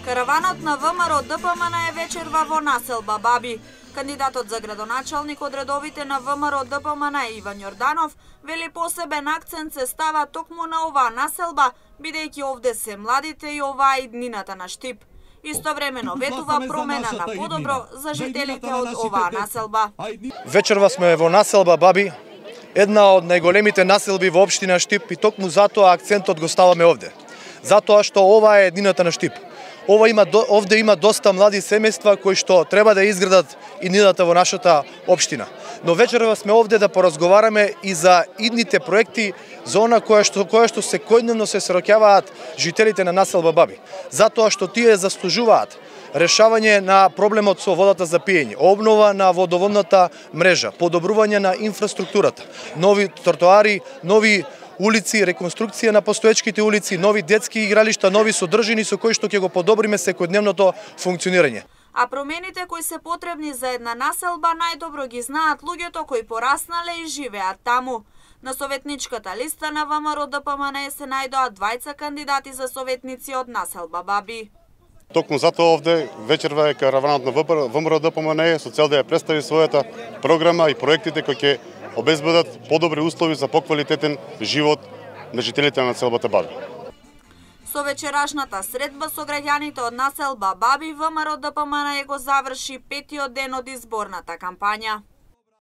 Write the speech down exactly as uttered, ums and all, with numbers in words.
Караванот на ВМРО Д П М Н е вечерва во населба Баби. Кандидатот за градоначалник од редовите на ВМРО Д П М Н Иван Јорданов вели посебен акцент се става токму на оваа населба, бидејќи овде се младите и оваа иднината на Штип. Истовремено ветува промена на подобро за жителите од оваа населба. Вечерва сме во населба Баби, една од најголемите населби во општина Штип, и токму затоа акцентот го ставаме овде. Затоа што ова е еднината на Штип. Ова има овде има доста млади семејства кои што треба да изградат иднината во нашата општина. Но вечерва сме овде да поразговараме и за идните проекти за она која што која што секојдневно се среќаваат жителите на населба Баби. Затоа што тие заслужуваат решавање на проблемот со водата за пиење, обнова на водоводната мрежа, подобрување на инфраструктурата, нови тротоари, нови улици, реконструкција на постоечките улици, нови детски игралишта, нови содржини со кои што ќе го подобриме секојдневното функционирање. А промените кои се потребни за една населба најдобро ги знаат луѓето кои пораснале и живеат таму. На советничката листа на ВМРО Д П М Н се најдоа двајца кандидати за советници од населба Баби. Токму затоа овде вечерва е караванот на ВМРО Д П М Н со цел да ја представи својата програма и проектите кои ќе обезбедат подобри услови за поквалитетен живот на жителите на населбата Баби. Со вечерашната средба со граѓаните од населба Баби, ВМРО Д П М Н го заврши петиот ден од изборната кампања.